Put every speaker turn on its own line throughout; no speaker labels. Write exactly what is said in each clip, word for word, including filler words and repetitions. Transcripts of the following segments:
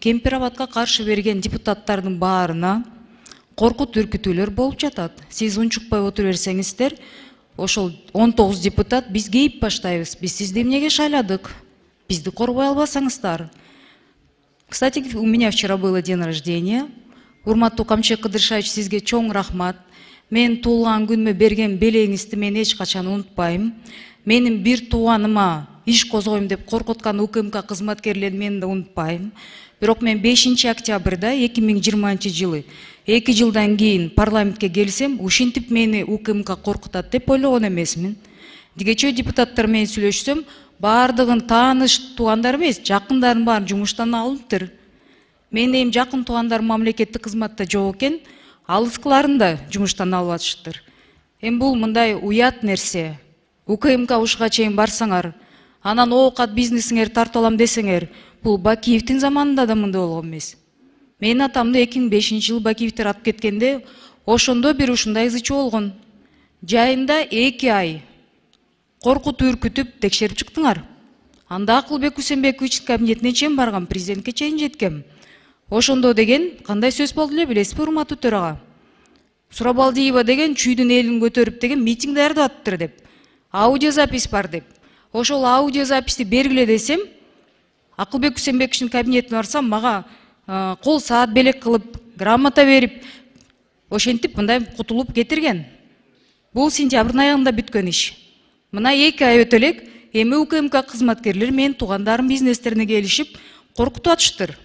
Кемпир Абадка каршы берген депутаттардын баарына коркут үркүтүүлөр болуп жатат. Сиз унчукпай отура берсеңиздер, ошол он тогуз депутат биз кейип баштайбыз. Биз сизди эмнеге шайладык? Бизди корбой албасаңыздар. Кстати, у меня вчера было день рождения. Урматтуу Камчек Кыдыршаевич, сизге чоң рахмат. Мен туулган күнүмө берген белеңизди мен эч качан унутпайм. Менин бир тууганыма иш козгойм деп коркуткан УКМК кызматкерлерин мен да унутпайм. Бирок мен бешинчи октябрда эки миң жыйырманчы жылы эки жылдан кийин парламентке келсем, ушинтип мени УКМК коркутат деп ойлогон эмесмин. Дигече депутаттар менен сүйлөшсөм, баардыгын тааныш туугандар эмес, жакындарын баарын жумуштан алыныптыр. Менин эми жакын туугандарым мамлекеттик кызматта жок экен, алыскыларын да жумуштан алып атышыптыр. Эми бул мындай уят нерсе. УКМК ушуга чейин барсаңар, анан оокат бизнесиңер тартып алам десеңер, бул Бакиевдин заманында да мындай болгон эмес. Менин атамды эки миң бешинчи жылы Бакиевдер атып кеткенде, ошондо бир ушундай ызычы болгон. Жайында эки ай коркутуп үркүтүп текшерип чыктыңар. Анда Акылбек Үсенбековичтин кабинетине чейин барган, президентке чейин жеткем. Ошондо деген кандай сөз болду эле билесизби, урматтуу төрага? Сурабалдиева деген чүйдүн элин көтөрүп деген митинг даярдаттыр деп. Аудиозапись бар деп. Ошол аудиозаписти бергиле десем, Акылбек Үсенбековичтин кабинетине барсам, мага кол саат белек кылып, грамота берип, ошентип мындай кутулуп кетирген. Бул сентябрдын аягында бүткөн иш. Мына эки ай өтө элек, эми УКМК кызматкерлери менин туугандарым бизнестерине келишип, коркутуп атыштыр.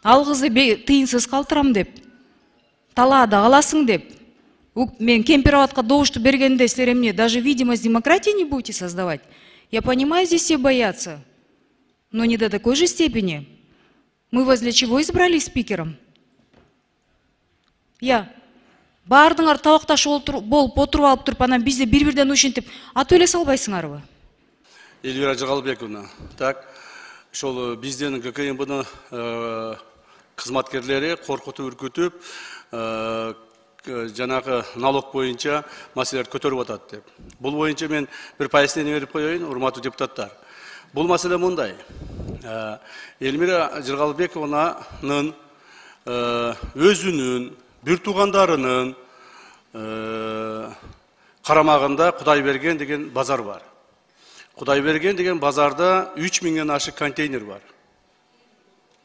Ал кызды тыйынсыз калтырам деп, талаада каласың деп. Мен Кемпир Абадка добушту бергенде силер эмне, даже видимость демократии не будете создавать? Я понимаю, здесь все боятся, но не до такой же степени. Мы вас для чего избрали спикером? Я. Баардыңар табакташ болуп отуруп алып туруп, анан бизди бир-бирден ушинтип атып эле салбайсыңарбы?
Эльвира Жыгалбековна, так, ошол биздин ГКМБнын кызматкерлери коркутуп үркүтүп, жанагы налог боюнча маселелерди көтөрүп атат деп. Бул боюнча мен бир пояснение берип коеюн, урматтуу депутаттар. Бул маселе мындай. Эльмира Жыгалбековнанын өзүнүн, бир туугандарынын карамагында Кудайберген деген базар бар. Кудайберген деген базарда үч миңден ашык контейнер бар.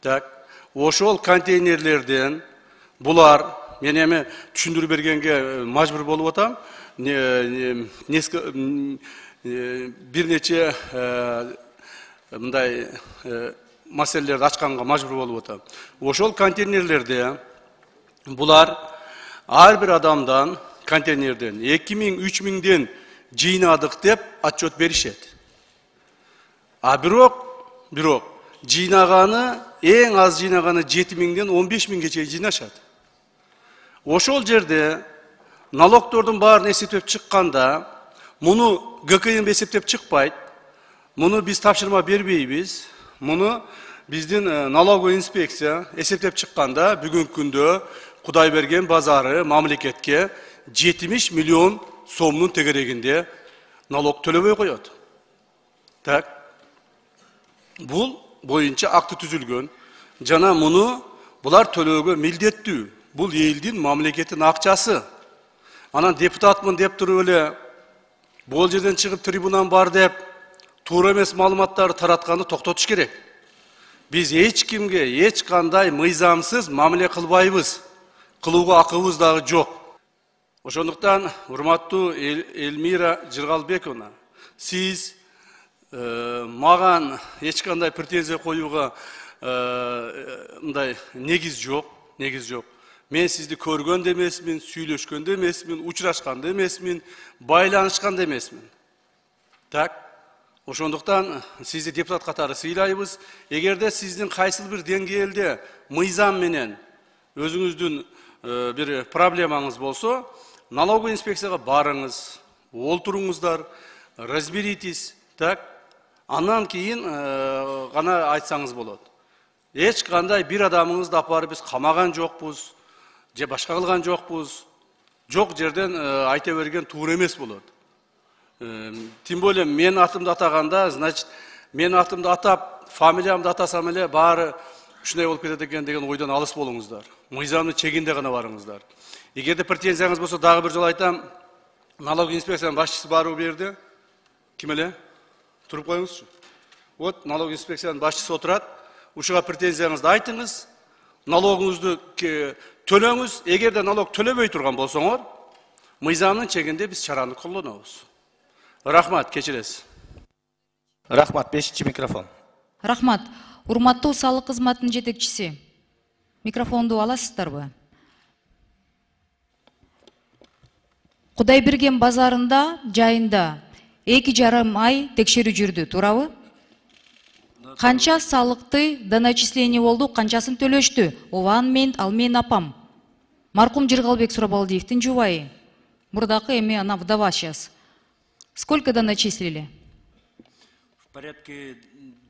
Так, ошол контейнерлерден булар, мен эми түшүндүрүп бергенге мажбур болуп атам, бир нече мындай маселелерди ачканга мажбур болуп атам. Ошол контейнерлерде булар ар бир адамдан контейнерден эки миң үч миңден жыйнадык деп отчет беришет. А бирок, бирок жыйнаганы, эң аз жыйнаганы жети миңден он беш миңге чейин жыйнашат. Ошол жерде налогтордун баарын эсептеп чыкканда, муну ГКМ эсептеп чыкпайт, муну биз тапшырма бербейбиз, муну биздин налоговый инспекция эсептеп чыкканда, бүгүнкү күндө Кудайберген базары мамлекетке жетимиш миллион сомдун тегерегинде налог төлөбөй коет. Так, бул боюнча акты түзүлгөн, жана муну булар төлөөгө милдеттүү. Бул элдин, мамлекеттин акчасы. Анан депутатмын деп туруп эле бул жерден чыгып трибунан бар деп туура эмес маалыматтарды таратканды токтотуш керек. Биз эч кимге эч кандай мыйзамсыз мамиле кылбайбыз. Кылууга акыбыз дагы жок. Ошондуктан, урматтуу Эльмира Жыгалбековна, сиз маган эч кандай претензия коюуга мындай негиз жок, негиз жок. Мен сизди көргөн да эмесмин, сүйлөшкөн да эмесмин, учурашкан да эмесмин, байланышкан да эмесмин. Так, ошондуктан сизди депутат катары сыйлайбыз. Эгерде сиздин кайсыл бир деңгээлде мыйзам менен өзүңүздүн бир проблемаңыз болсо, налоговый инспекцияга барыңыз, олтуруңуздар, разберитесь, так, андан кийин гана айтсаңыз болот. Эч кандай бир адамыңызды апарып биз камаган жокпуз, же башка кылган жокпуз, жок жерден айта берген туура эмес болот. Тем более мен атымды атаганда, значит, мен атымды атап, фамилиямды атасам эле баары ушундай болуп кетет экен деген ойдон алыс болуңуздар. Мыйзамдын чегинде гана барыңыздар. Эгерде претензияңыз болсо дагы бир жолу айтам, налог инспекциянын башчысы баруу берди. Ким эле? Туруп коюңузчу. Вот налог инспекциянын башчысы отурат. Ушуга претензияңызды айтыңыз. Налогуңузду төлөңүз. Эгерде налог төлөбөй турган болсоңор, мыйзамдын чегинде биз чараны колдонобуз. Рахмат, кечиресиз.
Рахмат, бешинчи микрофон.
Рахмат. Урматтуу салык кызматынын жетекчиси. Микрофонду аласыздарбы? Кудайберген базарында, жайында эки жарым ай текшерүү жүрдү, туурабы? Канча салыкты доначисление болду, канчасын төлөштү? Ооба, мен, ал менин апам. Маркум Жыргалбек Сурабалдиевдин жубайы. Мурдакы эми ана вдова сейчас. Сколько доначислили?
В порядке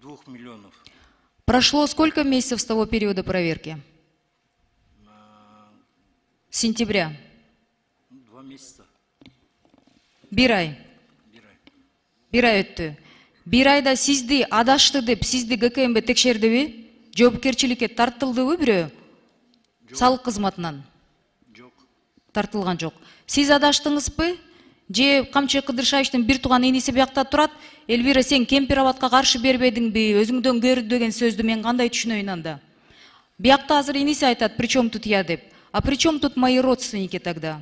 двух миллионов.
Прошло сколько месяцев с того периода проверки? С сентября.
Два месяца.
Бир ай. Бир ай өттү. Бир айда сизди адашты деп сизди ГКМБ текшердиби? Жоопкерчиликке тартылдыбы бирөө? Салык кызматынан?
Жок.
Тартылган жок. Сиз адаштыңызбы? Же Камчы Кыдыршаевичтин бир тууган иниси биякта турат, Элвира, сен кемпир абадка каршы бербедиңби, өзүңдөн көр деген сөздү мен кандай түшүнөйүн анда? Биякта азыр иниси айтат, причем тут я деп. А причем тут мои родственники тогда?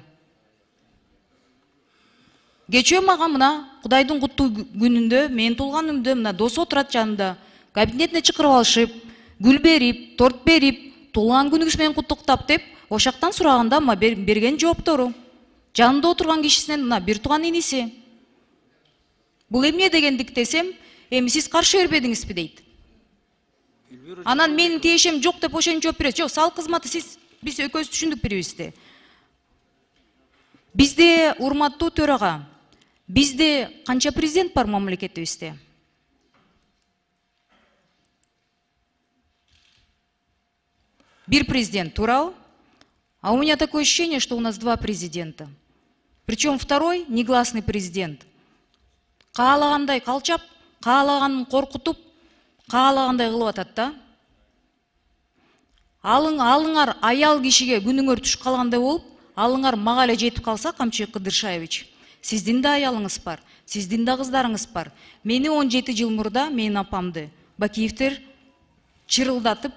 Кечөө мага мына Кудайдын куттуу күнүндө, менин туулганымда мына досу отурат жанымда, кабинетине чакырып алышып, гүл берип, торт берип, туулган күнүңүз менен куттуктап деп, ошактан сураганда ма берген жооптору. Жанында отурган кишисинен мына бир тууган иниси. Бул эмне дегендик десем, эми сиз каршы бербедиңизби дейт. Анан менин тиешем жок деп ошентип жооп берет. Жок, салык кызматы сиз биз экөөбүз түшүндүк бирибизди. Бизде, урматтуу төрага, бизде канча президент бар мамлекетибизде? Бир президент, туурабы? А у меня такое ощущение, что у нас два президента. Причем второй негласный президент. Каалагандай калчап, каалаганын коркутуп, каалагандай кылып атат да. Алың, алыңар аял кишиге күнүңөр түшүп калгандай болуп, алыңар мага эле жетип калса, Камчы Кыдыршаевич, сиздин да аялыңыз бар, сиздин да кыздарыңыз бар. Мени он жети жыл мурда менин апамды Бакиевтер чырылдатып,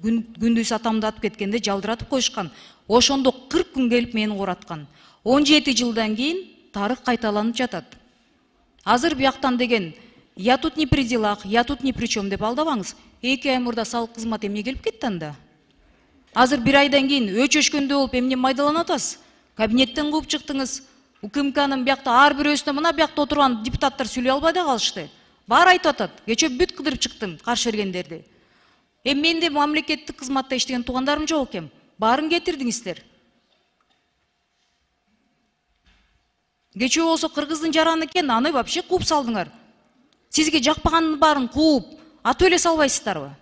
күндүз атамды атып кеткенде жалдыратып коюшкан. Ошондо кырк күн келип мени кураткан. он жети жылдан кийин тарых кайталанып жатат. Азыр бияктан деген я тут не при делах, я тут ни при чем деп алдабаңыз. эки ай мурда салык кызматы эмне келип кетти анда? Азыр бир айдан кийин өчөшкөндө болуп эмне майдаланып атасыз? Кабинеттен кууп чыктыңыз. УКМКнын биякта ар бирөөсүнө мына биякта отурган депутаттар сүйлөй албай да калышты. Баары айтып атат. Кечээ бүт кыдырып чыктым каршы бергендерди. Эми менде мамлекеттик кызматта иштеген туугандарым жок экен. Баарын кетирдиңиздер. Кечөө болсо кыргыздын жараны экен, аны вообще кууп салдыңар. Сизге жакпаганын баарын кууп, атып эле салбайсыздарбы?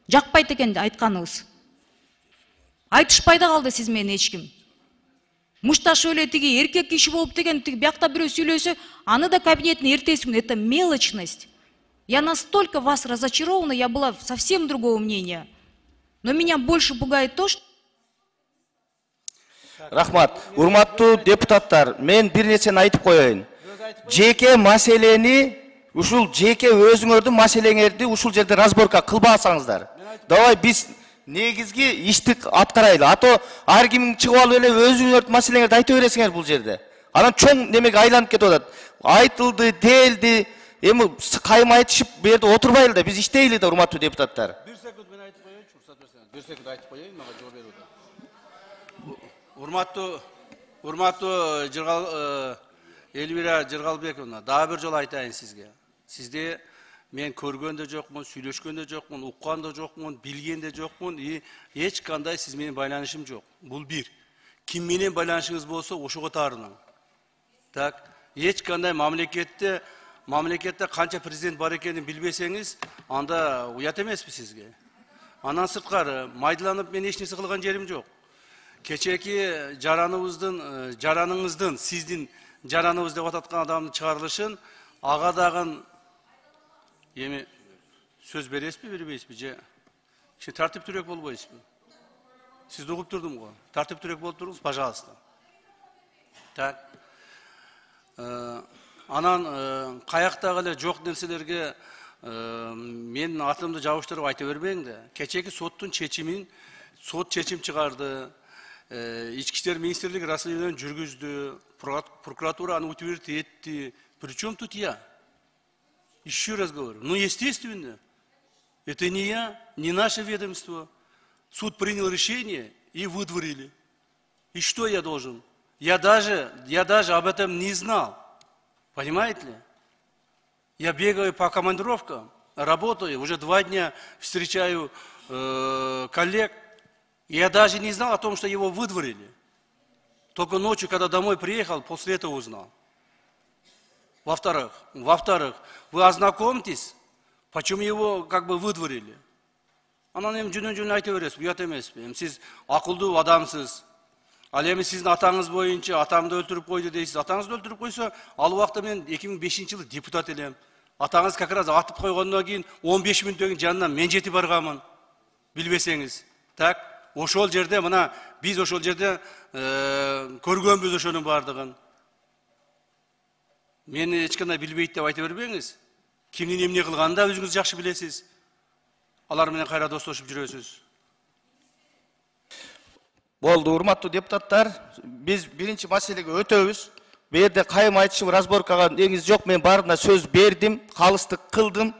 Жакпайт экен айтканыбыз. Айтышпай да калды сиз менен эч ким. Мушташ эле тиги эркек киши болуп деген тиги биякта бирөө сүйлөсө, аны да кабинеттин эртеси күнү. Это мелочность. Я настолько вас разочарована, я была совсем другого мнения. Но меня больше пугает то, что...
Рахмат. Урматтуу депутаттар, мен бир нерсени айтып коеюн. Жеке маселени, ушул жеке өзүңөрдүн маселеңерди ушул жерде разборка кылбасаңыздар. Давай биз негизги ишти аткарайлы. А то ар ким чыгып алып эле өзүңөрдүн маселеңерди айта бересиңер бул жерде. Анан чоң немеге айланып кетип атат. Айтылды, делди, эми кайма айтышып бу жерде отурбайлы да, биз иштейли да, урматтуу депутаттар.
бир секунд мен айтып коеюнчу, уруксат берсеңиз. бир секунд айтып коеюн, мага жооп берип атат. Урматтуу, урматтуу Жыргал Элвира Жыргалбековна, дагы бир жолу айтайын сизге. Сизди мен көргөн да жокмун, сүйлөшкөн да жокмун, уккан да жокмун, билген да жокмун, и эч кандай сиз менен байланышым жок. Бул бир. Ким менен байланышыңыз болсо ошого таарынам. Так, эч кандай мамлекетте мамлекетте канча президент бар экенин билбесеңиз, анда уят эмеспи сизге. Андан сырткары майдаланып мен эч нерсе кылган жерим жок. Кечеки жараныбыздын, жараныңыздын, сиздин жараныбыз деп ататкан адамдын чыгарылышын ага дагы эми сөз бересизби, бербейсизби же Şimdi тартиптүүрөөк болбойсузбу? Сизди угуп турдум го. Тартиптүүрөөк болуп туруңуз, пожалуйста. Так. Анан каяктагы эле жок нерселерге менин атымды жабыштырып айта бербең да. Кечеки соттун чечимин, сот чечим чыгарды. Ички иштер министрлиги расследование жүргүздү, прокуратура аны утвердить этти. Причем тут я? Еще раз говорю. Ну, естественно, это не я, не наше ведомство. Суд принял решение и выдворили. И что я должен? Я даже, я даже об этом не знал. Понимаете ли? Я бегаю по командировкам, работаю, уже два дня встречаю э, коллег. Я даже не знал о том, что его выдворили. Только ночью, когда домой приехал, после этого узнал. Во-вторых, во-вторых, вы ознакомьтесь, почему его как бы выдворили. Анан эми жөнөн-жөнөн айта бересиз, уят эмеспи? Эми сиз акылдуу адамсыз. Ал эми сиздин атаңыз боюнча атамды өлтүрүп койду дейсиз. Атаңызды өлтүрүп койсо, ал убакта мен эки миң бешинчи жылы депутат элем. Атаңыз как раз атып койгондон кийин он беш мүнөттөн жанынан мен жетип барганмын. Билбесеңиз. Так, ошол жерде мына биз ошол жерде көргөнбүз ошонун бардыгын. Мени эч кандай билбейт деп айта бербеңиз. Кимдин эмне кылганын да өзүңүз жакшы билесиз. Алар менен кайра достошуп жүрөсүз.
Болду, урматтуу депутаттар, биз биринчи маселеге өтөбүз. Бу жерде кайым айтышып разборкага негиз жок, мен баарына сөз бердим, калыстык кылдым.